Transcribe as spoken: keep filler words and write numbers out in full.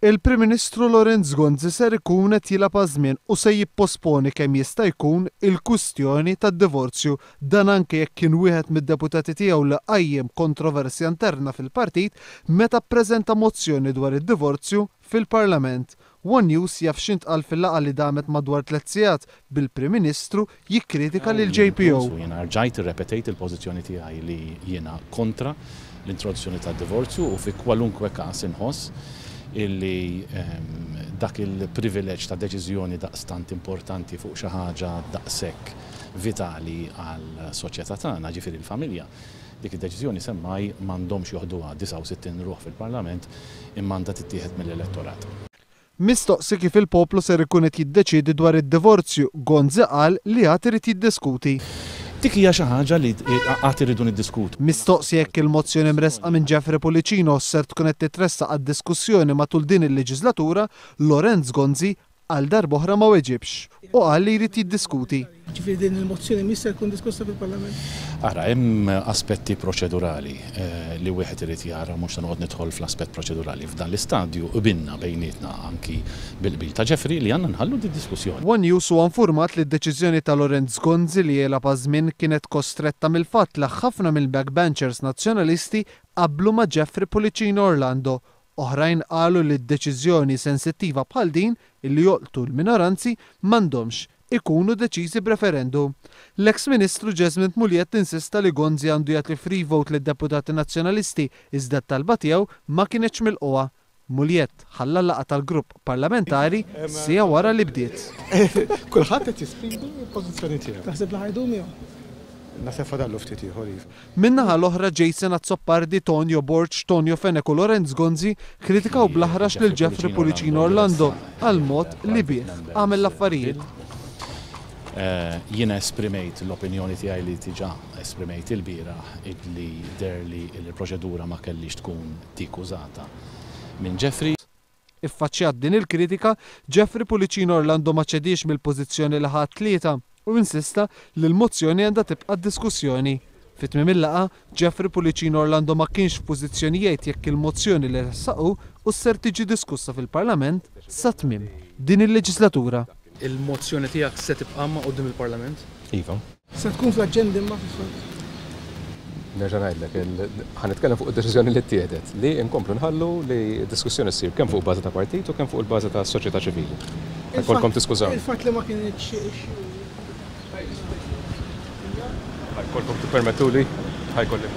Il-Prim Ministru Lawrence Gonzi ser ikun qed jilgħab għaż-żmien u se jipposponi kemm jista' jkun il-kwistjoni tad-divorzju. Dan anke jekk kien wieħed mid-deputati tiegħu li qajjem kontroversja interna fil-partit meta ppreżenta mozzjoni dwar id-divorzju fil-Parlament. One News jaf x'intqal fil-laqgħa li damet madwar tliet sigħat bil-Prim Ministru jikkritika lil J P O. Jiena rġajt irrepetejt il-pożizzjoni tiegħi li jiena kontra l-introduzzjoni tad-divorzju u fi kwalunkwe każ inħoss illi ehm, dak il-privileġġ ta' deċiżjoni daqstant importanti fuq xi ħaġa daqshekk vitali għal soċjetà tagħna, ġifieri l-familja. Dik id-deċiżjoni semmaj m'għandhomx joħduha disgħa u sittin ruħ fil-Parlament, imma għandha tittieħed mill-elettorat. Mistoqsi kif il-poplu ser ikun qed jiddeċiedi dwar id-divorzju, Gonzi qal li għad irid jiddiskuti. Dik hija xi ħaġa li qatt irridu niddiskutu. Mistoqsi jekk il-mozzjoni mresqa minn Jeffrey Pullicino ser tkun qed titressaq għad-diskussjoni matul din il-leġislatura, Lawrence Gonzi għal darb'oħra ma weġibx u qal li jrid jiddiskuti. Ġifieri din il-mozzjoni mhix se tkun diskussa fil-Parlament? Ara, hemm aspetti proċedurali eh, li wieħed irid jara. Mhux se noqgħod nidħol fl-aspett proċedurali f'dan l-istadju. Qbilna bejnietna, anki bil-qbil ta' Jeffrey, li għandna nħallu di diskussjoni. One News huwa informat li d-deċiżjoni ta' Lawrence Gonzi li jilgħab għaż-żmien kienet kostretta mill-fatt li ħafna mill-backbenchers nazzjonalisti qablu ma' Jeffrey Pullicino Orlando. Oħrajn qalu li d-deċiżjoni sensittiva bħal din illi jolqtu l-minoranzi m'għandhomx ikunu deċiżi b'referendum. L-eks Ministru Jesmond Mugliett insista li Gonzi għandu jagħti free vote lid-deputati nazzjonalisti, iżda t-talba tiegħu ma kienx milqugħa. Mugliett ħalla laqgħa tal-grupp parlamentari siegħa wara li bdiet. Kulħadd qed jesprimi l-pożizzjoni tiegħu. Taħseb li ħa jdum jew? Naħseb fadallu ftit ieħor, iva. Min-naħa l-oħra, Jason Azzopardi, Tonio Borg, Tonio Fenech u Lawrence Gonzi kritikaw bl-aħrax lil Jeffrey Pullicino Orlando għal mod li bih għamel l-affarijiet. Eh, Jiena esprimejt l-opinjoni tiegħi li diġà esprimejt il-bieraħ, li deher li l-proċedura ma kellix tkun dik użata minn Jeffrey. Iffaċċjat din il-kritika, Jeffrey Pullicino Orlando ma ċedix mill-pożizzjoni li ħadd tlieta u insista li l-mozzjoni għandha tibqa' diskussjoni. Fi tmiem il-laqgħa, Jeffrey Pullicino Orlando ma kienx f'pożizzjoni jgħid jekk il-mozzjoni li ressaq hu ser tiġi diskussa fil-Parlament sa tmiem din il-leġislatura. Il-mozzjoni tiegħek se tibqa' ma' quddiem il-Parlament? Iva. Se tkun fl-aġenda imma fil-fatt? Nerġa' ngħidlek, ħa nitkellem fuq id-deċiżjoni li ttieħdet li nkomplu nħallu li d-diskussjoni ssir kemm fuq bażi ta' partit u kemm fuq il-bażi ta' soċjetà ċivili. Ħa jkollkom tiskużawni. Il-fatt li ma kienx Ħa jkollkom tippermettuli, ħa jkolli.